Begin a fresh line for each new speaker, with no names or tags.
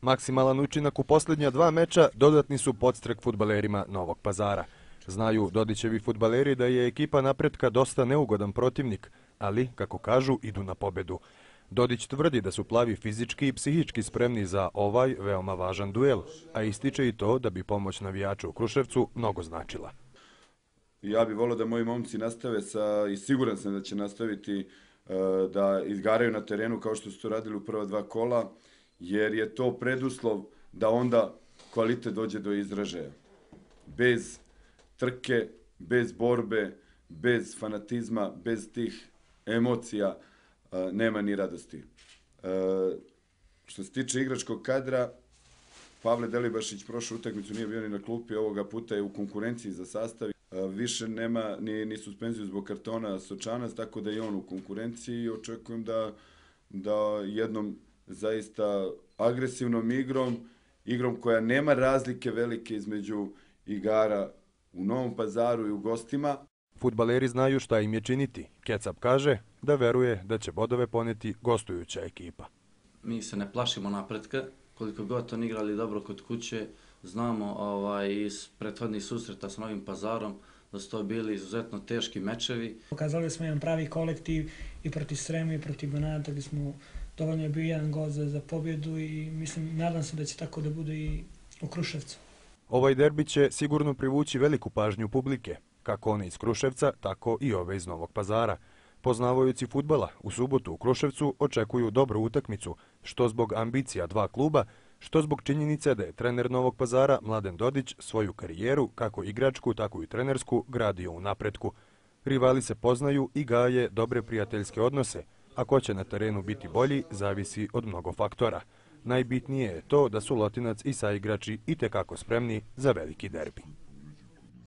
Maksimalan učinak u posljednja 2 meča dodatni su podstrek fudbalerima Novog Pazara. Znaju Dodićevi fudbaleri da je ekipa Napretka dosta neugodan protivnik, ali, kako kažu, idu na pobedu. Dodić tvrdi da su plavi fizički i psihički spremni za ovaj veoma važan duel, a ističe i to da bi pomoć navijača u Kruševcu mnogo značila.
Ja bih volio da moji momci nastave i siguran sam da će nastaviti da izgaraju na terenu kao što su to radili u prva 2 kola, jer je to preduslov da onda kvalitet dođe do izražaja. Bez trke, bez borbe, bez fanatizma, bez tih emocija nema ni radosti. Što se tiče igračkog kadra, Pavle Delibašić prošlu utakmicu nije bio ni na klupi, ovoga puta je u konkurenciji za sastav. Više nema ni suspenziju zbog kartona Sočanac, tako da je on u konkurenciji i očekujem da jednom zaista agresivnom igrom koja nema razlike velike između igara u Novom Pazaru i u gostima.
Fudbaleri znaju šta im je činiti. Kecap kaže da veruje da će bodove poneti gostujuća ekipa.
Mi se ne plašimo Napretka, koliko god oni igrali dobro kod kuće, znamo iz prethodnih susreta s Novim Pazarom da su to bili izuzetno teški mečevi.
Pokazali smo jedan pravi kolektiv i protiv Srema i protiv Banata gdje smo dovoljno je bio jedan gol za pobjedu i nadam se da će tako da bude i u Kruševcu.
Ovaj derbi će sigurno privući veliku pažnju publike, kako one iz Kruševca, tako i ove iz Novog Pazara. Poznavajući fudbala, u subotu u Kruševcu očekuju dobru utakmicu, što zbog ambicija 2 kluba, što zbog činjenice da je trener Novog Pazara Mladen Dodić svoju karijeru, kako igračku, tako i trenersku, gradio u Napretku. Rivali se poznaju i gaje dobre prijateljske odnose, a ko će na terenu biti bolji zavisi od mnogo faktora. Najbitnije je to da su Lotinac i saigrači itekako spremni za veliki derbi.